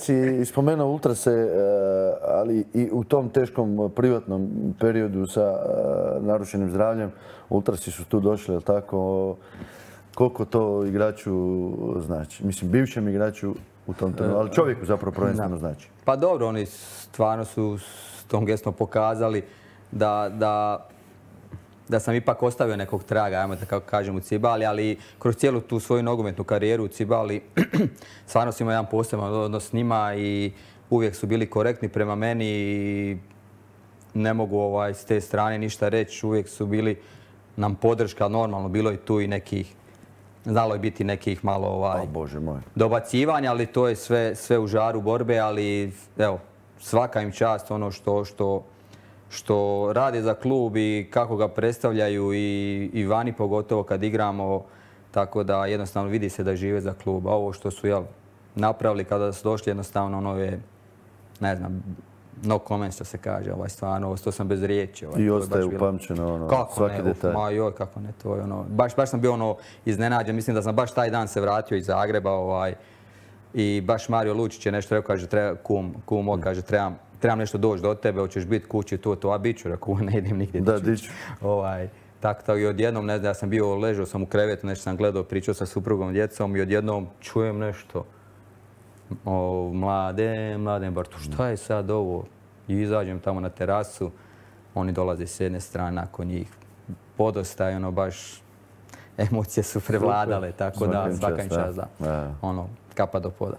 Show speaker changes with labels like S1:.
S1: si spomenuo Ultrase, ali i u tom teškom privatnom periodu sa narušenim zdravljem, Ultrasi su tu došli, je li tako? Koliko to igraču znači? Mislim, bivšem igraču u tom trenutku, ali čovjeku zapravo prvenstveno znači.
S2: Pa dobro, oni stvarno su s tom gestom pokazali da sam ipak ostavio nekog traga, ajmo da kako kažem, u Cibali, ali kroz cijelu tu svoju nogometnu karijeru u Cibali stvarno sam imao jedan poseban odnos s njima i uvijek su bili korektni prema meni i ne mogu s te strane ništa reći. Uvijek su bili nam podrška, normalno bilo je tu i nekih, znalo je biti nekih malo
S1: Bože moj,
S2: dobacivanja, ali to je sve u žaru borbe, ali evo, svaka im čast ono što rade za klub i kako ga predstavljaju i vani pogotovo kad igramo, tako da jednostavno vidi se da žive za klub. A ovo što su napravili kada su došli jednostavno ono je, ne znam, no comment što se kaže, stvarno, to sam bez riječi.
S1: I ostaje upamćeno svaki detalj.
S2: Ma joj, kako ne, to je baš sam bio iznenađen, mislim da sam baš taj dan se vratio iz Zagreba i baš Mario Lučić je nešto rekao, kaže, kum, kaže, trebam nešto doći do tebe, hoćeš biti kući, to, a bit ću, rekao, ne idem nigdje.
S1: Da, diću.
S2: Tako i odjednom, ne znam, ja sam bio, ležao sam u krevetu, nešto sam gledao, pričao sa suprugom, djecom i odjednom čujem nešto. Mladen Bartu, šta je sad ovo? I izađem tamo na terasu, oni dolaze s jedne strane nakon njih. Podosta je baš, emocije su prevladale, tako da svaka im čast, da. Kapa do poda.